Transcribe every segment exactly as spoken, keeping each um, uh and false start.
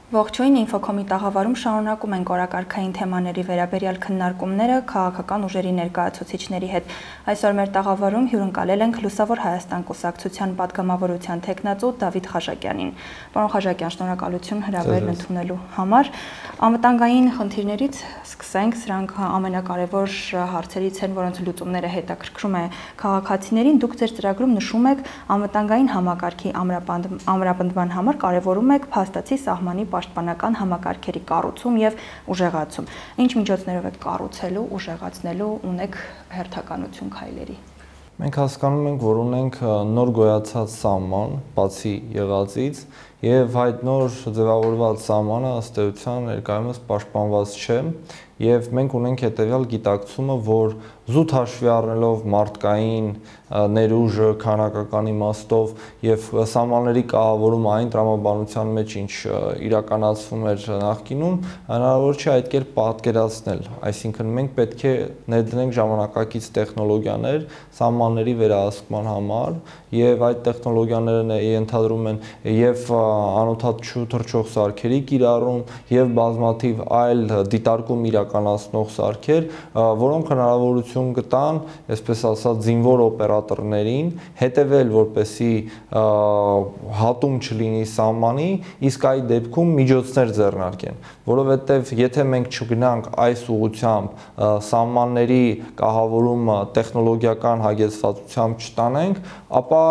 Ողջույն, Ինֆոկոմի տաղավարում շարունակում ենք օրակարգային թեմաների վերաբերյալ քննարկումները քաղաքական ուժերի ներկայացուցիչների հետ։ Այսօր մեր տաղավարում հյուրընկալել ենք Լուսավոր Հայաստան կուսակցության պատգամավորության թեկնածու Դավիթ Խաչակյանին։ Պարոն Խաչակյան, շնորհակալություն հրավերն ընդունելու համար։ Անվտանգային խնդիրներից սկսենք, սրանք ամենակարևոր հարցերից են, որոնց լուծումները հետաքրքրում է քաղաքացիներին։ Դուք ձեր ծրագրում նշում եք անվտանգային համակարգի ամրապնդման համար կարևորում եք փաստացի սահմանի պաշտպանական համակարգերի կառուցում եւ ուժեղացում։ Ինչ միջոցներով եք կառուցելու, ուժեղացնելու, ունեք հերթականություն քայլերի։ Մենք հասկանում ենք, որ ունենք նոր գոյացած սահման, բացի եղածից, եւ այդ նոր ձևավորված սահմանը ըստ էության ներկայումս պաշտպանված չէ, եւ մենք ունենք հետեւյալ գիտակցումը, որ զուտ հաշվի առնելով մարդկային ներուժը, քանակական իմաստով եւ սահմանների կահավորումը այն տրամաբանության մեջ, ինչ իրականացվում էր նախկինում, հնարավոր չէ այդ կերպ պատկերացնել։ Այսինքն մենք պետք է ներդնենք ժամանակակից տեխնոլոգիաներ սահմանների վերահսկման համար, եւ այդ տեխնոլոգիաները ենթադրում են եւ անօդաչու թռչող սարքերի կիրառում եւ բազմաթիվ այլ դիտարկում իրականացնող սարքեր, որոնք հնարավորություն կտան, այսպես ասած, զինվոր օպերատորներին հետևել, որպեսզի հատում չլինի սահմանի, իսկ այդ դեպքում միջոցներ ձեռնարկեն, որովհետեւ եթե մենք չգնանք այս ուղղությամբ սահմանների կահավորումը տեխնոլոգիական հագեցվածությամբ չտանենք, ապա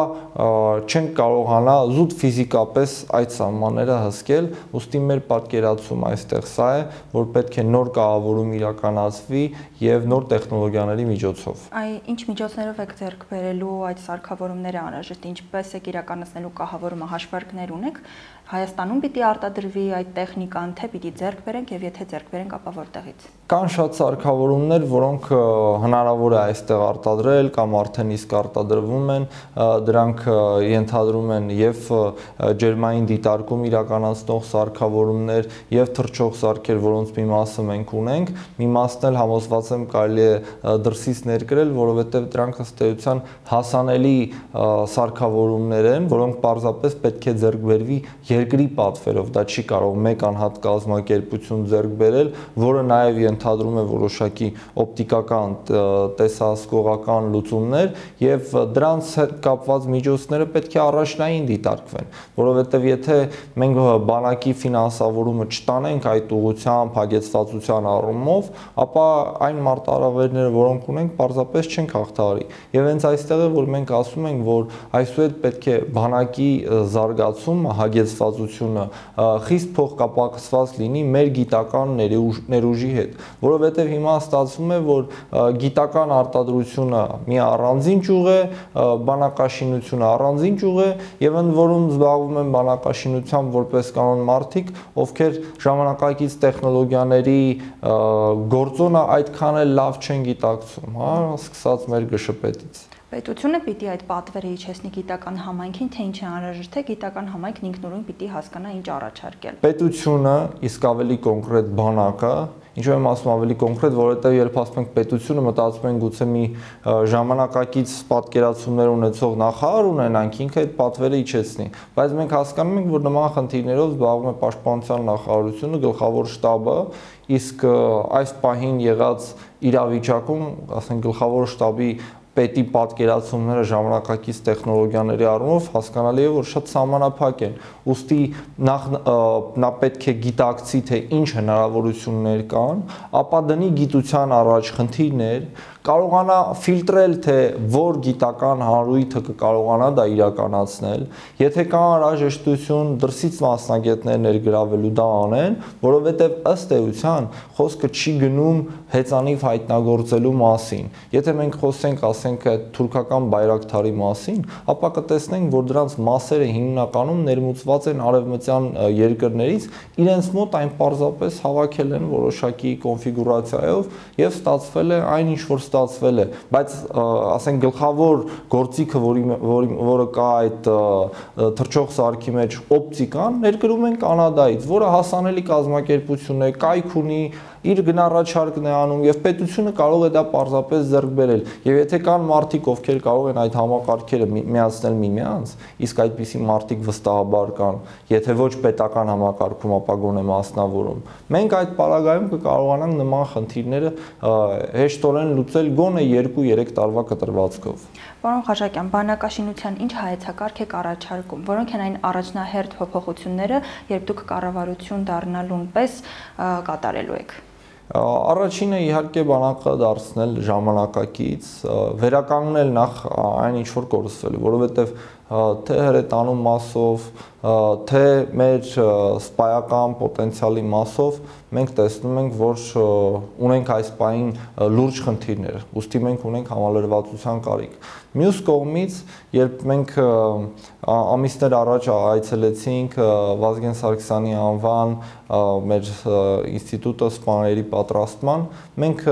չենք կարողանա զուտ ֆիզիկապես այդ սահմանները հսկել, ուստի մեր պատկերացումը այստեղ սա է, որ պետք է նոր կահավորում իրականացվի եւ նոր տեխնոլոգիաների միջոցով։ Այ ինչ միջոցներով եք ձեռք բերելու այդ սարքավորումները անհրաժեշտ, ինչպես եք իրականացնելու կահավորումը, հաշվարկներ ունեք, Հայաստանում պիտի արտադրվի այդ տեխնիկան, թե պիտի ձեռք բերենք եւ եթե ձեռք բերենք, ապա որտեղից։ Կան շատ սարքավորումներ, որոնք հնարավոր է այստեղ արտադրել կամ արդեն իսկ արտադրվում են, դրանք ենթադրում են եւ ջերմային դիտարկում իրականացնող սարքավորումներ եւ թռչող սարքեր, որոնց մի մասը մենք ունենք, մի մասն էլ համոզված եմ կարելի է դրսից ներկրել, որովհետեւ դրանք ըստ էության հասանելի սարքավորումներ են, որոնք պարզապես պետք է ձեռք բերվի երկրի պատվերով, դա չի կարող մեկ անհատ կազմակերպություն ձեռք բերել, որը նաև ենթադրում է որոշակի օպտիկական տեսահսկողական լուծումներ եւ դրանց հետ կապված միջոցները պետք է առաջնային դիտարկվեն, որովհետեւ եթե մենք բանակի ֆինանսավորումը չտանենք այդ ուղղությամբ հագեցվածության առումով, ապա այն մարտահրավերները, որոնք ունենք, պարզապես չենք հաղթահարի։ Եվ հենց այստեղ է, որ մենք ասում ենք, որ այսուհետ պետք է բանակի զարգացումը, հագեցվածությունը խիստ փոխկապակցված լինի մեր գիտական ներուժի հետ, որովհետև հիմա ստացվում է, որ գիտական արտադրությունը մի առանձին ճյուղ է, բանակաշինությունը առանձին ճյուղ է եւ ընդ որում զբաղվում են բանակաշինությամբ որպես կանոն մարդիկ, ովքեր ժամանակակից տեխնոլոգիաների գործոնը այդքան էլ լավ չեն գիտակցում, հա, սկսած մեր գշպետից։ Պետությունը պիտի այդ պատվերը իջեցնի գիտական համայնքին, թե ինչ է անհրաժեշտ է, գիտական համայնքն ինքնուրույն պիտի հասկանա ինչ առաջարկել։ Պետությունը, իսկ ավելի կոնկրետ բանակը, ինչու եմ ասում ավելի կոնկրետ, որովհետև երբ ասում ենք պետությունը, մտածում ենք գուցե մի ժամանակակից պատկերացումներ ունեցող նախարար ունենանք, ինքը այդ պատվերը իջեցնի, բայց մենք հասկանում ենք, որ նման խնդիրներով զբաղվում է Պաշտպանության նախարարությունը, գլխավոր շտաբը, իսկ այս պահին եղած իրավիճակում, ասենք գլխավոր շտաբի պետի պատկերացումները ժամանակակից տեխնոլոգիաների առումով հասկանալի է, որ շատ սահմանափակ են, ուստի նախ նա պետք է գիտակցի, թե ինչ հնարավորություններ կան, ապա դնի գիտության առաջ խնդիրներ, կարողանա ֆիլտրել, թե որ գիտական հանրույթը կկարողանա դա իրականացնել, եթե կա անհրաժեշտություն դրսից մասնագետներ ներգրավելու դա անեն, որովհետև ըստ էության խոսքը չի գնում հեծանիվ հայտնագործելու մասին։ Եթե մենք խոսենք, ասենք թուրքական բայրակթարի մասին, ապա կտեսնենք, որ դրանց մասերը հիմնականում ներմուծված են արևմտյան երկրներից, իրենց մոտ այն պարզապես հավաքել են որոշակի կոնֆիգուրացիայով եւ ստացվել է այն, ինչ որ ստացվել է, բայց ասենք գլխավոր գործիքը, որի որը կա այդ թռչող սարքի մեջ օպտիկան, ներկրում են Կանադայից, որը հասանելի կազմակերպություն է, կայք ունի, իր գնառաջարկն է անում եւ պետությունը կարող է դա պարզապես ձեռք բերել։ Եվ եթե կան մարդիկ, ովքեր կարող են այդ համակարգերը միացնել միմյանց, իսկ այդպիսի մարդիկ վստահաբար կան, եթե ոչ պետական համակարգում, ապա գոնե մասնավորում, մենք այդ պարագայում կկարողանանք նման խնդիրները հեշտորեն լուծել գոնե երկու-երեք տարվա կտրվածքով։ Պարոն Խաչակյան, բանակաշինության ինչ հայեցակարգ եք առաջարկում, որոնք են այն առաջնահերթ փոփոխությունները, երբ դուք կառավարություն դառնալուն պես կատարելու եք։ Առաջինը իհարկե բանակը դարձնել ժամանակակից, վերականգնել նախ այն ինչ որ կորսվել է, որովհետև թե հրետանու մասով, թե մեր սպայական պոտենցիալի մասով մենք տեսնում ենք, որ ունենք այս պահին լուրջ խնդիրներ, ուստի մենք ունենք համալրվածության կարիք։ Մյուս կողմից, երբ մենք ամիսներ առաջ այցելեցինք Վազգեն Սարգսյանի անվան մեր ինստիտուտը սպաների պատրաստման, մենք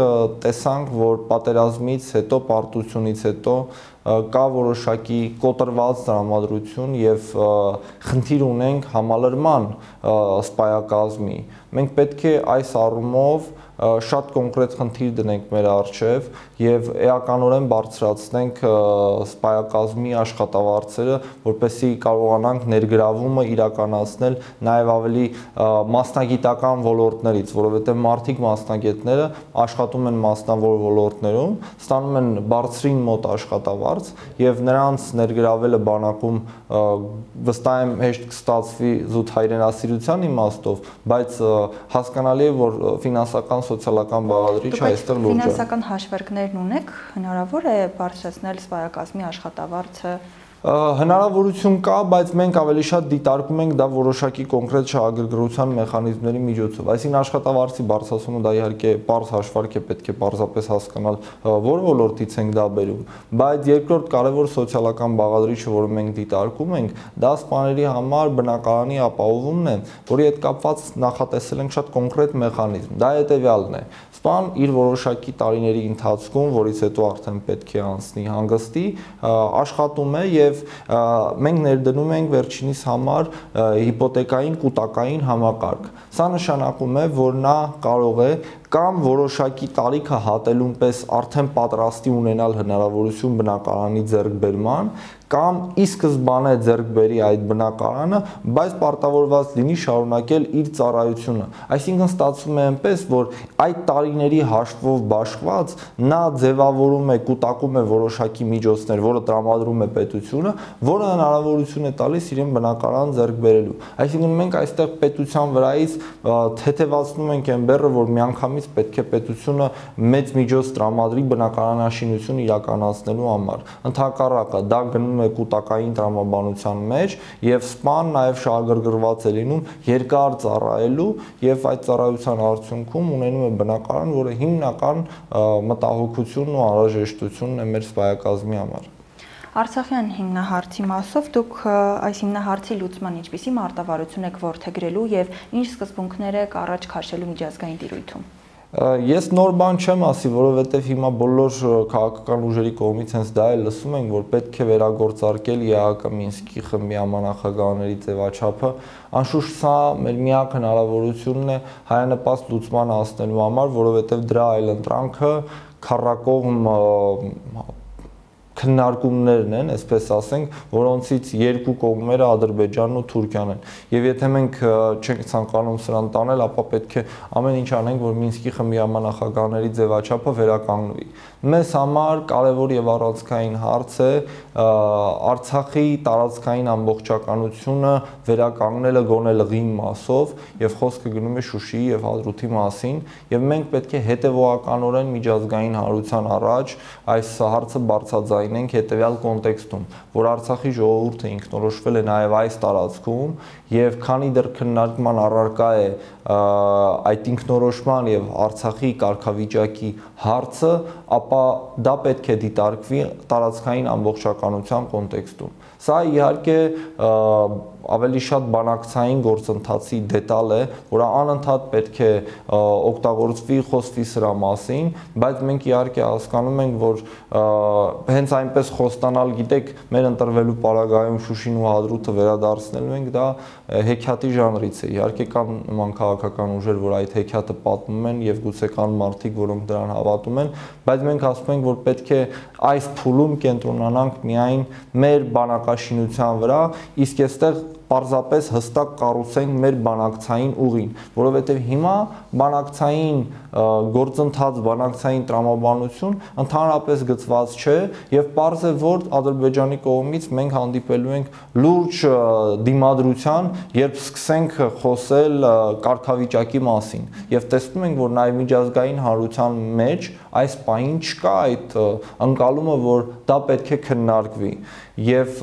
տեսանք, որ պատերազմից հետո, պարտությունից հետո կա որոշակի կոտրված տրամադրություն եւ խնդիր ունենք համալրման սպայակազմի։ Մենք պետք է այս առումով շատ կոնկրետ խնդիր դնենք մեր առջև եւ էականորեն բարձրացնենք սպայակազմի աշխատավարձերը, որպեսզի կարողանանք ներգրավումը իրականացնել նաեւ ավելի մասնագիտական ոլորտներից, որովհետեւ մարդիկ մասնագետները աշխատում են մասնավոր ոլորտներում, ստանում են բարձրին մոտ աշխատավարձ եւ նրանց ներգրավելը բանակում վստահ եմ հեշտ կստացվի զուտ հայրենասիրության իմաստով, բայց հասկանալի է, որ ֆինանսական սոցիալական բաղադրիչը այստեղ լուրջ է։ Ֆինանսական հաշվարկներն ունեք, հնարավոր է բարձրացնել սպայակազմի աշխատավարձը։ Հնարավորություն կա, բայց մենք ավելի շատ դիտարկում ենք դա որոշակի կոնկրետ շահագրգռության մեխանիզմների միջոցով։ Այսինքն աշխատավարձի բարձրացումը դա իհարկե պարզ հաշվարկ է, պետք է պարզապես հասկանալ որ ոլորտից ենք դա բերում, բայց երկրորդ կարևոր սոցիալական բաղադրիչը, որը մենք դիտարկում ենք, դա սպաների համար բնակարանի ապահովումն է, որի հետ կապված նախատեսել ենք շատ կոնկրետ մեխանիզմ։ Դա հետևյալն է. Սպան իր որոշակի տարիների ընթացքում, որից հետո արդեն պետք է անցնի հանգստի, աշխատում է եւ մենք ներդնում ենք վերջինիս համար հիպոթեկային կուտակային համակարգ։ Սա նշանակում է, որ նա կարող է կամ որոշակի տարիքը հատելուն պես արդեն պատրաստի ունենալ հնարավորություն բնակարանի ձեռքբերման, կամ ի սկզբանե ձեռք բերի այդ բնակարանը, բայց պարտավորված լինի շարունակել իր ծառայությունը։ Այսինքն ստացվում է այնպես, որ այդ տարիների հաշվով բաշխված նա ձևավորում է, կուտակում է որոշակի միջոցներ, որը տրամադրում է պետությունը, որը հնարավորություն է տալիս իրեն բնակարան ձեռք բերելու։ Այսինքն մենք այստեղ պետության վրայից թեթևացնում ենք այն բեռը, որ միանգամից պետք է պետությունը մեծ միջոց տրամադրի բնակարանաշինություն իրականացնելու համար։ Ընդհակառակը դա գնում է կուտակային տրամաբանության մեջ եւ սպան նաեւ շահագրգռված է լինում երկար ծառայելու եւ այդ ծառայության արդյունքում ունենում է բնակարան, որը հիմնական մտահոգությունն ու անհրաժեշտությունն է մեր սպայակազմի համար։ Արցախյան հիմնահարցի մասով դուք այս հիմնահարցի լուծման ինչպիսի մարտավարություն եք որդեգրելու եւ ինչ սկզբունքներ եք առաջ քաշելու միջազգային տիրույթում։ Ես նոր բան չեմ ասի, որովհետև հիմա բոլոր քաղաքական ուժերի կողմից հենց դա է լսում ենք, որ պետք է վերագործարկել ԵԱՀԿ Մինսկի խմբի համանախագահաների ձևաչափը։ Անշուշտ սա մեր միակ հնարավորությունն է հայանպաստ լուծման հասնելու համար, որովհետև դրա այլընտրանքը քառակողմ քննարկումներն են, այսպես ասենք, որոնցից երկու կողմերը Ադրբեջանն ու Թուրքիան են։ Եվ եթե մենք չենք ցանկանում սրան տանել, ապա պետք է ամեն ինչ անենք, որ Մինսկի խմբի համանախագահաների ձևաչափը վերականգնվի։ Մեզ համար կարևոր եւ առանցքային հարց է Արցախի տարածքային ամբողջականությունը վերականգնելը գոնե լղին մասով, եւ խոսքը գնում է Շուշիի եւ Հադրութի մասին, եւ մենք պետք է հետեւողականորեն միջազգային հանրության առաջ այս հարցը բարձրաձայնենք հետեւյալ կոնտեքստում, որ Արցախի ժողովուրդը ինքնորոշվել է նաեւ այս տարածքում եւ քանի դեռ քննարկման առարկա է այդ ինքնորոշման եւ Արցախի կարգավիճակի հարցը, ապա դա պետք է դիտարկվի տարածքային ամբողջականության կոնտեքստում։ Սա իհարկե ավելի շատ բանակցային գործընթացի դետալ է, որը անընդհատ պետք է օգտագործվի, խոսվի սրա մասին, բայց մենք իհարկե հասկանում ենք, որ հենց այնպես խոստանալ, գիտեք, մեր ընտրվելու պարագայում Շուշին ու Հադրութը վերադարձնելու ենք, դա հեքիաթի ժանրից է։ Իհարկե կան նման քաղաքական ուժեր, որ այդ հեքիաթը պատմում են եւ գուցե կան մարդիկ, որոնք դրան հավատում են, բայց մենք ասում ենք, որ պետք է այս փուլում կենտրոնանանք միայն մեր բանակաշինության վրա, իսկ այստեղ պարզապես հստակ կառուցենք մեր բանակցային ուղին, որովհետև հիմա բանակցային գործընթաց, բանակցային տրամաբանություն ընդհանրապես գծված չէ եւ պարզ է, որ Ադրբեջանի կողմից մենք հանդիպելու ենք լուրջ դիմադրության, երբ սկսենք խոսել կարգավիճակի մասին եւ տեսնում ենք, որ նաեւ միջազգային հանրության մեջ այս պահին չկա այդ ընկալումը, որ դա պետք է քննարկվի եւ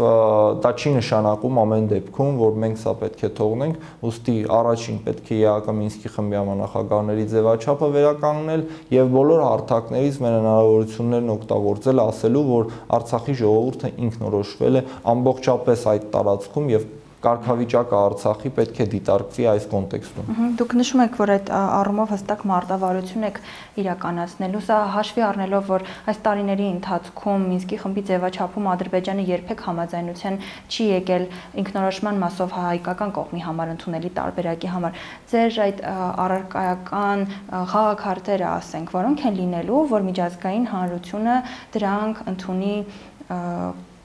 դա չի նշանակում ամեն դեպքում, որ մենք սա պետք է թողնենք, ուստի առաջին պետք է ԵԱԿ Մինսկի խմբի համանախագահների ձևաչափը վերականգնել եւ բոլոր հարթակներից մեր հնարավորություններն օգտագործել, ասելու, որ Արցախի ժողովուրդը ինքնորոշվել է ամբողջապես այդ տարածքում եւ կարգավիճակը Արցախի պետք է դիտարկվի այս կոնտեքստում։ Դուք նշում եք, որ այդ առումով հստակ մարտավարություն եք իրականացնելու, սա հաշվի առնելով, որ այս տարիների ընթացքում Մինսկի խմբի ձևաչափում Ադրբեջանը երբեք համաձայնության չի եկել ինքնորոշման մասով հայկական կողմի համար ընդունելի տարբերակի համար։ Ձեր այդ առարկայական խաղաքարտերը, ասենք, որոնք են լինելու, որ միջազգային հանրությունը դրանք ընդունի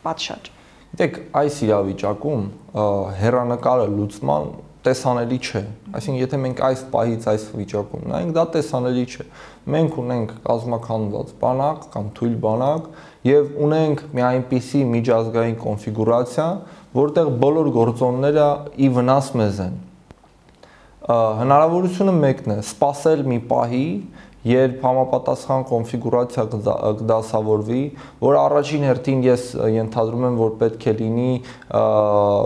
պատշաճ։ Գիտեք, այս իրավիճակում հեռանկարը լուծման տեսանելի չէ, այսինքն եթե մենք այս պահից այս վիճակում նայենք, դա տեսանելի չէ։ Մենք ունենք կազմաքանդված բանակ կամ թույլ բանակ եւ ունենք մի այնպիսի միջազգային կոնֆիգուրացիա, որտեղ բոլոր գործոնները ի վնաս մեզ են։ Հնարավորությունը մեկն է՝ սպասել մի պահի, երբ համապատասխան կոնֆիգուրացիա կդասավորվի, որ առաջին հերթին ես ենթադրում եմ, որ պետք է լինի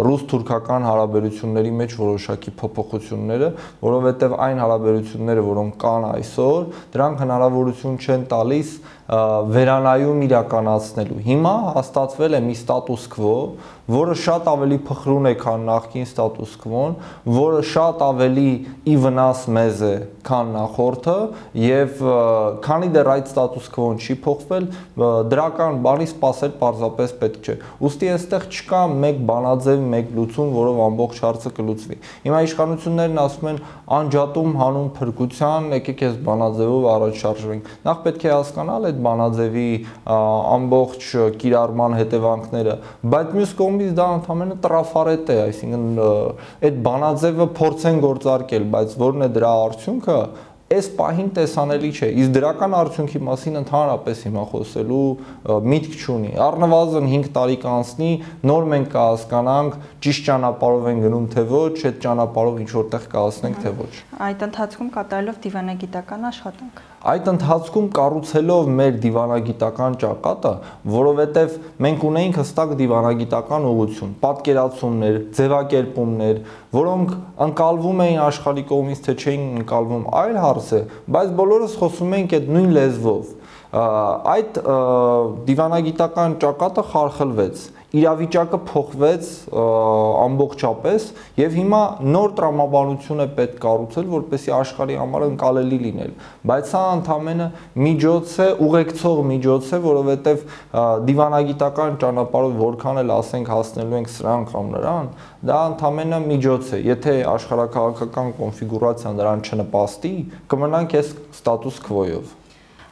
ռուս-թուրքական հարաբերությունների մեջ որոշակի փոփոխությունները, որովհետև այն հարաբերությունները, որոնք կան այսօր, դրանք հնարավորություն չեն տալիս վերանայում իրականացնելու։ Հիմա հաստատվել է մի ստատուս քվո, որը շատ ավելի փխրուն է, քան նախկին ստատուս քվոն, որը շատ ավելի ի վնաս մեզ է, քան նախորդը, եւ քանի դեռ այդ ստատուս քվոն չի փոխվել, դրական բանի սպասել պարզապես պետք չէ։ Ուստի այստեղ չկա մեկ բանաձև, մեկ լուծում, որով ամբողջ հարցը կլուծվի։ Հիմա իշխանություններն ասում են անջատում հանուն փրկության, եկեք այս բանաձևով առաջ շարժվենք։ Նախ պետք է հասկանալ այդ բանաձևի ամբողջ կիրառման հետևանքները, բայց մյուս կողմից դա ընդհանրապես տրաֆարետ է, այսինքն այդ բանաձևը փորձեն գործարկել, բայց որն է դրա արդյունքը, այս պահին տեսանելի չէ, իսկ դրական արդյունքի մասին ընդհանրապես հիմա խոսելու միտք չունի։ Առնվազն հինգ տարի կանցնի, նոր մենք կհասկանանք ճիշտ ճանապարհով են գնում թե ոչ, այդ ճանապարհով ինչ որտեղ կհասնենք թե ոչ։ Այդ ընթացքում կատարելով դիվանագիտական աշխատանք։ Այդ ընթացքում կառուցելով մեր դիվանագիտական ճակատը, որովհետև մենք ունեինք հստակ դիվանագիտական ուղղություն, պատկերացումներ, ձևակերպումներ, որոնք ընկալվում էին աշխարհի կողմից, թե չէին ընկալվում, այլ հարց է, բայց բոլորս խոսում ենք այդ նույն լեզվով։ Այդ դիվանագիտական ճակատը խարխլվեց, իրավիճակը փոխվեց ամբողջապես եւ հիմա նոր տրամաբանություն է պետք կառուցել, որպեսզի աշխարհի համար ընկալելի լինել, բայց սա ընդամենը միջոց է, ուղեկցող միջոց է, որովհետեւ դիվանագիտական ճանապարհով որքան էլ ասենք հասնելու ենք սրան կամ նրան, դա ընդամենը միջոց է, եթե աշխարհակաղակական կոնֆիգուրացիան դրան չնպաստի, կմնանք այս ստատուս քվոյով։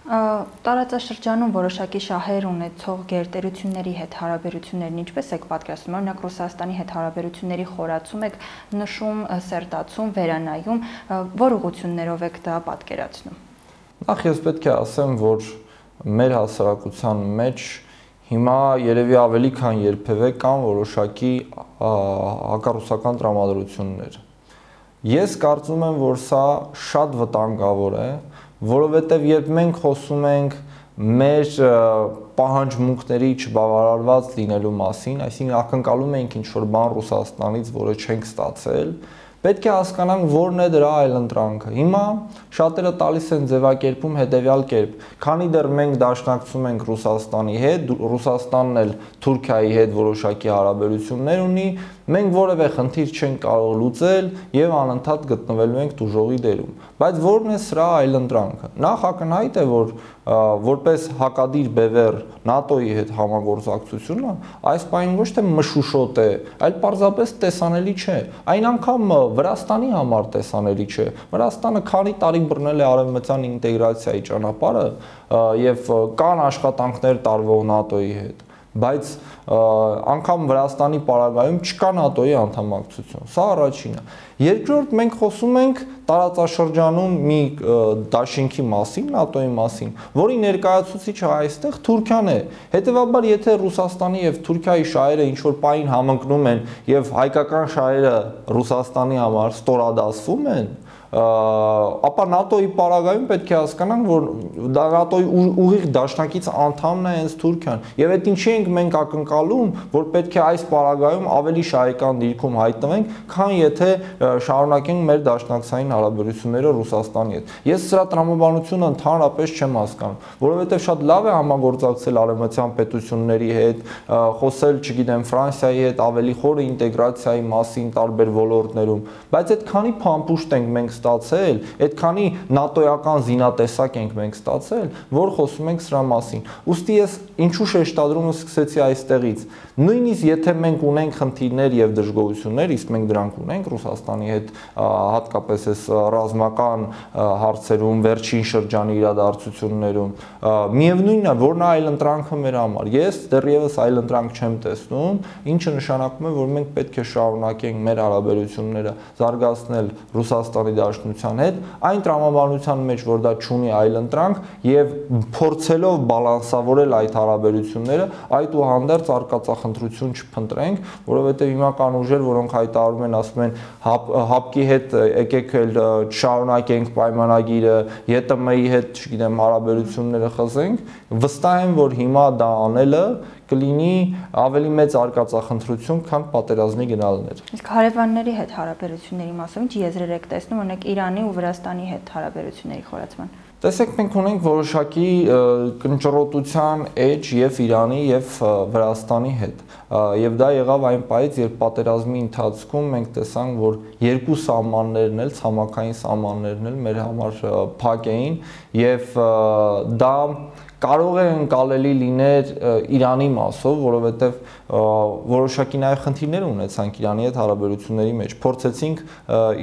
Տարածաշրջանում որոշակի շահեր ունեցող գերտերությունների հետ հարաբերություններն ինչպես եք պատկերացնում, օրինակ Ռուսաստանի հետ հարաբերությունների խորացում եք նշում, սերտացում, վերանայում, որ ուղղություններով եք դա պատկերացնում։ Նախ ես պետք է ասեմ, որ մեր հասարակության մեջ հիմա երևի ավելի քան երբևէ կան որոշակի հակառուսական տրամադրություններ։ Ես կարծում եմ, որ սա շատ վտանգավոր է, որովհետև երբ մենք խոսում ենք մեր պահանջմունքների չբավարարված լինելու մասին, այսինքն ակնկալում ենք ինչ-որ բան Ռուսաստանից, որը չենք ստացել, Պետք է հասկանանք որն է դրա այլընտրանքը։ Հիմա շատերը տալիս են ձևակերպում հետևյալ կերպ. քանի դեռ մենք դաշնակցում ենք Ռուսաստանի հետ, Ռուսաստանն էլ Թուրքիայի հետ որոշակի հարաբերություններ ունի, մենք որևէ խնդիր չենք կարող լուծել եւ անընդհատ գտնվելու ենք դժողի դերում։ Բայց որն է սրա այլընտրանքը։ Նախ ակնհայտ է, որ որպես հակադիր բևեռ ՆԱՏՕ-ի հետ համագործակցությունը այս պահին ոչ թե մշուշոտ է, այլ պարզապես տեսանելի չէ։ Այն անգամ Վրաստանի համար տեսանելի չէ։ Վրաստանը քանի տարի բռնել է արևմտյան ինտեգրացիայի ճանապարհը եւ կան աշխատանքներ տարվող ՆԱՏՕ-ի հետ, բայց անգամ Վրաստանի պարագայում չկա ՆԱՏՕ-ի անդամակցություն։ Սա առաջինը։ Երկրորդ, մենք խոսում ենք տարածաշրջանում մի դաշինքի մասին, ՆԱՏՕ-ի մասին, որի ներկայացուցիչը այստեղ Թուրքիան է։ Հետևաբար, եթե Ռուսաստանի եւ Թուրքիայի շահերը ինչ որ պահին համընկնում են եւ հայկական շահերը Ռուսաստանի համար ստորադասվում են, ապա ՆԱՏՕ-ի պարագայում պետք է հասկանանք, որ ՆԱՏՕ-ի ուղիղ դաշնակից անդամն է հենց Թուրքիան։ Եվ այդ ինչի ենք մենք ակնկալում, որ պետք է այս պարագայում ավելի շահեկան դիրքում հայտնվենք, քան եթե շարունակենք մեր դաշնակցային հարաբերությունները Ռուսաստանի հետ։ Ես սրա տրամաբանությունը ընդհանրապես չեմ հասկանում, որովհետև շատ լավ է համագործակցել արևմտյան պետությունների հետ, խոսել, չգիտեմ, Ֆրանսիայի հետ ավելի խորը ինտեգրացիայի մասին տարբեր ոլորտներում, բայց այդքանի փամփուշտ ենք մենք ստացել, այդքանի ՆԱՏՕ-ական զինատեսակ ենք մենք ստացել, որ խոսում ենք սրա մասին։ Ուստի ես ինչու շեշտադրումը սկսեցի այստեղից։ Նույնիսկ եթե մենք ունենք խնդիրներ եւ դժգոհություններ, իսկ մենք դրանք ունենք Ռուսաստանի հետ, հատկապես այս ռազմական հարցերում, վերջին շրջանի իրադարձություններում, միևնույնն է, որ նա այլընտրանքը մեր համար։ Ես դեռևս այլընտրանք չեմ տեսնում, ինչը նշանակում է, որ մենք պետք է շարունակենք մեր հարաբերությունները զարգացնել Ռուսաստանի Դաշնության հետ, այն տրամաբանության մեջ, որ դա չունի այլընտրանք եւ փորձելով բալանսավորել այդ հարաբերությունները, այդուհանդերձ արկածախնդրություն չփնտրենք, որովհետեւ հիմա կան ուժեր, որոնք հայտարարում են, ասում են ՀԱՊԿ-ի հետ եկեք էլ շարունակենք պայմանագիրը, ԵՏՄ-ի հետ, չգիտեմ, հարաբերությունները խզենք, վստահ եմ, որ հիմա դա անելը կլինի ավելի մեծ արկածախնդրություն, քան պատերազմի գնալներ։ Իսկ հարևանների հետ հարաբերությունների մասով ինչ եզրեր եք տեսնում, օրինակ Իրանի ու Վրաստանի հետ հարաբերությունների խորացման։ Տեսեք, մենք ունենք որոշակի կնճռոտության էջ եւ Իրանի եւ Վրաստանի հետ։ Եվ դա եղավ այն պահից, երբ պատերազմի ընթացքում մենք տեսանք, որ երկու սահմաններն էլ, ցամաքային սահմաններն էլ մեր համար փակ էին եւ դա կարող է ընկալելի լիներ Իրանի մասով, որովհետև որոշակի նաև խնդիրներ ունեցանք Իրանի հետ հարաբերությունների մեջ։ Փորձեցինք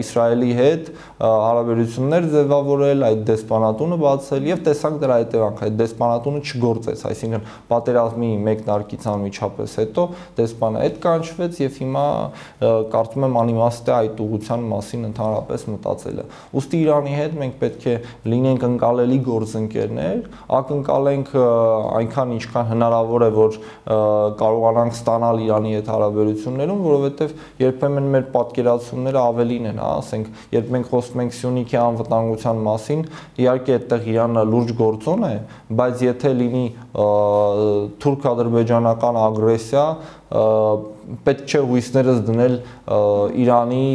Իսրայելի հետ հարաբերություններ ձևավորել, այդ դեսպանատունը բացել եւ տեսանք դրա հետևանքը, այդ դեսպանատունը չգործեց, այսինքն պատերազմի մեկնարկից անմիջապես հետո դեսպանը հետ կանչվեց եւ հիմա կարծում եմ անիմաստ է այդ ուղղության մասին ընդհանրապես մտածելը։ Ուստի Իրանի հետ մենք պետք է լինենք ընկալելի գործընկերներ, ակնկալ ենք այնքան ինչքան հնարավոր է, որ կարողանանք ստանալ Իրանի հետ հարաբերություններում, որովհետև երբեմն մեր պատկերացումները ավելին են, ասենք, երբ մենք խոսում ենք Սյունիքի անվտանգության մասին, իհարկե այդտեղ Իրանը լուրջ գործոն է, բայց եթե լինի թուրք-ադրբեջանական ագրեսիա, պետք չէ հույսներս դնել Իրանի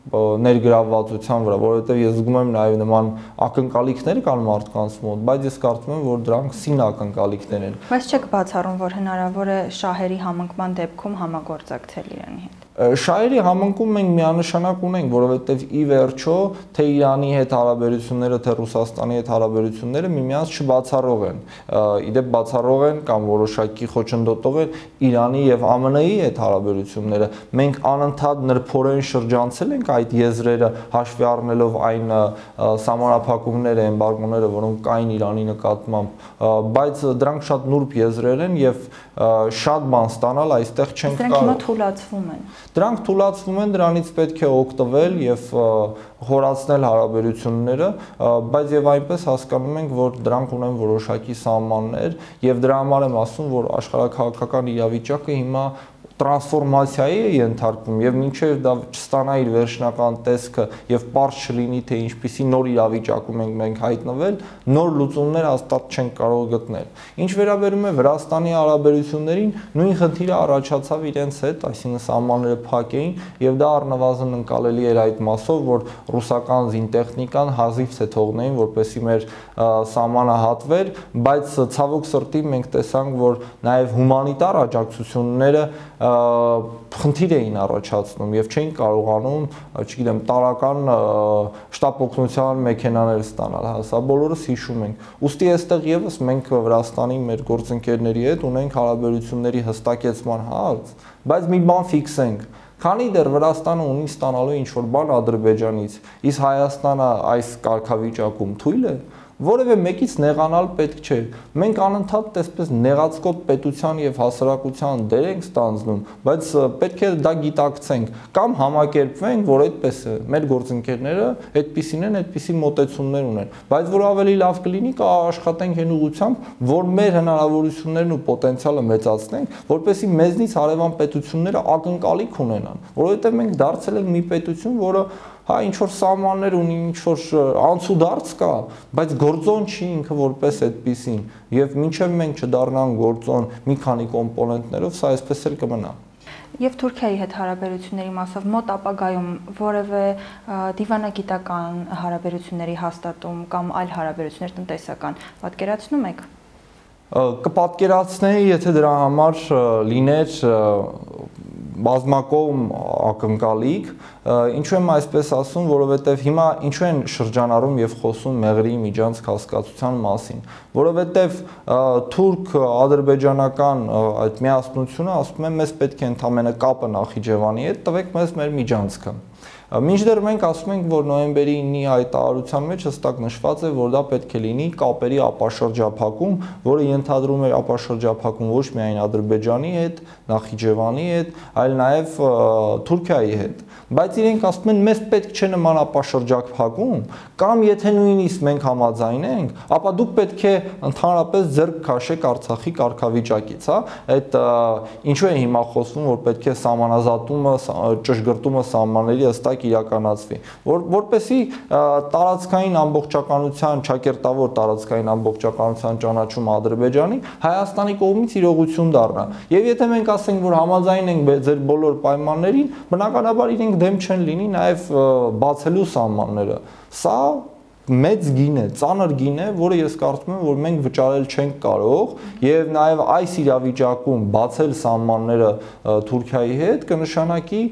ներգրավվածության վրա, որովհետև ես զգում եմ նաև նման ակնկալիքներ կան մարդկանց մոտ, բայց ես կարծում եմ, որ դրանք սին ակնկալիքներ են։ Բայց չեք բացառում, որ հնարավոր է շահերի համընկման դեպքում համագործակցել Իրանի հետ։ Շահերի համընկում մենք միանշանակ ունենք, որովհետև ի վերջո թե Իրանի հետ հարաբերությունները, թե Ռուսաստանի հետ հարաբերությունները միմյանց չբացառող են։ Իդեպ բացառող են կամ որոշակի խոչընդոտող են Իրանի եւ ԱՄՆ-ի հետ հարաբերությունները։ Մենք անընդհատ նրբորեն շրջանցել ենք այդ եզրերը, հաշվի առնելով այն սահմանափակումները, էմբարգոները, որոնք կային Իրանի նկատմամբ, բայց դրանք շատ նուրբ եզրեր են եւ շատ բան ստանալ այստեղ չենք կարող։ Դրանք հիմա թուլացվում են։ Դրանք թուլացվում են, դրանից պետք է օգտվել եւ խորացնել հարաբերությունները, բայց եւ այնպես հասկանում ենք, որ դրանք ունեն որոշակի սահմաններ եւ դրա համար եմ ասում, որ աշխարհաքաղաքական իրավիճակը հիմա տրանսֆորմացիայի է ենթարկվում եւ մինչեւ դա չստանա իր վերջնական տեսքը եւ པարզ չլինի թե ինչպիսի նոր իրավիճակում ենք մենք հայտնվել, նոր լուծումներ հաստատ չենք կարող գտնել։ Ինչ վերաբերում է Վրաստանի հարաբերություններին, նույն խնդիրը առաջացավ իրենց հետ, այսինքն սահմանները փակ էին եւ դա առնվազն ընկալելի էր այդ մասով, որ ռուսական զինտեխնիկան հազիվ թե թողնեին, որպեսզի մեր սահմանը հատվեր, բայց ցավոք սրտի մենք տեսանք, որ նաեւ հումանիտար աջակցությունները խնդիր էին առաջացնում եւ չէին կարողանում, չգիտեմ, տարական շտապ օգնության մեքենաներ ստանալ, հա, սա բոլորս հիշում ենք։ Ուստի այստեղ եւս մենք Վրաստանի մեր գործընկերների հետ ունենք հարաբերությունների հստակեցման հարց, բայց մի բան ֆիքսենք։ Քանի դեռ Վրաստանը ունի ստանալու ինչ-որ բան Ադրբեջանից, իսկ Հայաստանը այս կարգավիճակում թույլ է, որևէ մեկից նեղանալ պետք չէ։ Մենք անընդհատ տեսպես նեղացկոտ պետության եւ հասարակության դեր ենք ստանձնում, բայց պետք է դա գիտակցենք կամ համակերպվենք, որ այդպես է։ Մեր գործընկերները այդպիսին են, այդպիսի մոտեցումներ ունեն, բայց որ ավելի լավ կլինի կա աշխատենք այն ուղղությամբ, որ մեր հնարավորություններն ու պոտենցիալը մեծացնենք, որպեսզի մեզնից հարևան պետությունները ակնկալիք ունենան, որովհետեւ մենք դարձել ենք մի պետություն, որը հա ինչ-որ սահմաններ ունի, ինչ-որ անցուդարձ կա, բայց գործոն չի ինքը որպես այդպիսին եւ մինչեւ մենք չդառնանք գործոն մի քանի կոմպոնենտներով, սա այսպես էլ կմնա։ Եվ Թուրքիայի հետ հարաբերությունների մասով մոտ ապագայում որևէ դիվանագիտական հարաբերությունների հաստատում կամ այլ հարաբերություններ տնտեսական պատկերացնում եք։ Կպատկերացնեի, եթե դրա համար լիներ բազմակողմ ակնկալիք, ինչու եմ այսպես ասում, որովհետև հիմա ինչու են շրջանառում եւ խոսում Մեղրիի միջանցք հասկացության մասին, որովհետև թուրք-ադրբեջանական այդ միասնությունը ասում է մեզ պետք է ընդամենը կապը Նախիջևանի հետ տվեք մեզ մեր միջանցքը։ Մինչդեռ մենք ասում ենք, որ նոյեմբերի ինի հայտարարության մեջ հստակ նշված է, որ դա պետք է լինի կապերի ապաշրջափակում, որը ենթադրում է ապաշրջափակում ոչ միայն Ադրբեջանի հետ, Նախիջևանի հետ, այլ նաև Թուրքիայի հետ։ Բայց իրենք ասում են, մեզ պետք չէ նման ապաշրջափակում, կամ եթե նույնիսկ մենք համաձայնենք, ապա դուք պետք է ընդհանրապես ձեռք քաշեք Արցախի կարգավիճակից, հա։ Այդ ինչու է հիմա խոսվում, որ պետք է սահմանազատումը, ճշգրտումը սահմանների հստակ իրականացվի, որ որպեսի տարածքային ամբողջականության, ճակերտավոր տարածքային ամբողջականության ճանաչումը Ադրբեջանի Հայաստանի կողմից իրողություն դառնա։ Եվ եթե մենք ասենք, որ համաձայն ենք ձեր բոլոր պայմաններին, բնականաբար իրենք դեմ չեն լինի նաև բացելու սահմանները։ Սա մեծ գին է, ծանր գին է, որը ես կարծում եմ, որ մենք վճարել չենք կարող եւ նաեւ այս իրավիճակում բացել սահմանները Թուրքիայի հետ կնշանակի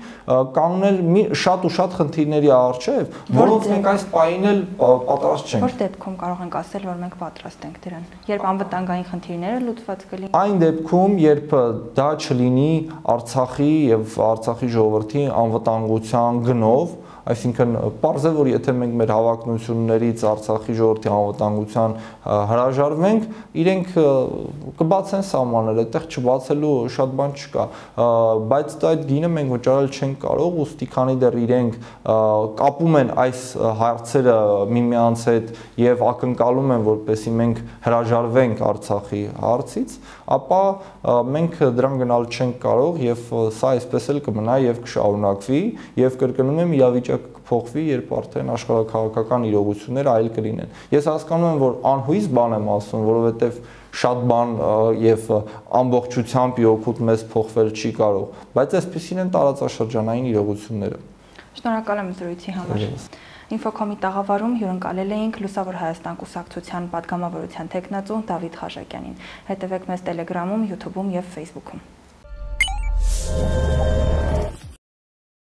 կանգնել մի շատ ու շատ խնդիրների առջեւ, որոնց մենք այս պահին էլ պատրաստ չենք։ Որ դեպքում կարող ենք ասել, որ մենք պատրաստ ենք դրան, երբ անվտանգային խնդիրները լուծված կլինեն։ Այն դեպքում, երբ դա չլինի Արցախի եւ Արցախի ժողովրդի անվտանգության գնով, այսինքն պարզ է, որ եթե մենք մեր հավակնություններից Արցախի ժողովրդի անվտանգության հրաժարվենք, իրենք կբացեն սահմանները, այդտեղ չբացելու շատ բան չկա, բայց այդ գինը մենք վճարել չենք կարող, ուստի քանի դեռ իրենք կապում են այս հարցերը միմյանց հետ եւ ակնկալում են, որպեսզի մենք հրաժարվենք Արցախի հարցից, ապա մենք դրան գնալ չենք կարող եւ սա այսպես էլ կմնա եւ կշարունակվի եւ կրկնում եմ իրավիճակը կփոխվի, երբ արդեն աշխարհաքաղաքական իրողությունները այլ կլինեն։ Ես հասկանում եմ, որ անհույս բան եմ ասում, որովհետեւ շատ բան եւ ամբողջությամբ իօգուտ մեզ փոխվել չի կարող, բայց այսպեսին են տարածաշրջանային իրողությունները։ Շնորհակալ եմ զրույցի համար։ Ինֆոկոմի տաղավարում հյուրընկալել էինք Լուսավոր Հայաստան կուսակցության պատգամավորության թեկնածու Դավիթ Խաչակյանին։ Հետևեք մեզ Telegram-ում, YouTube-ում եւ Facebook-ում։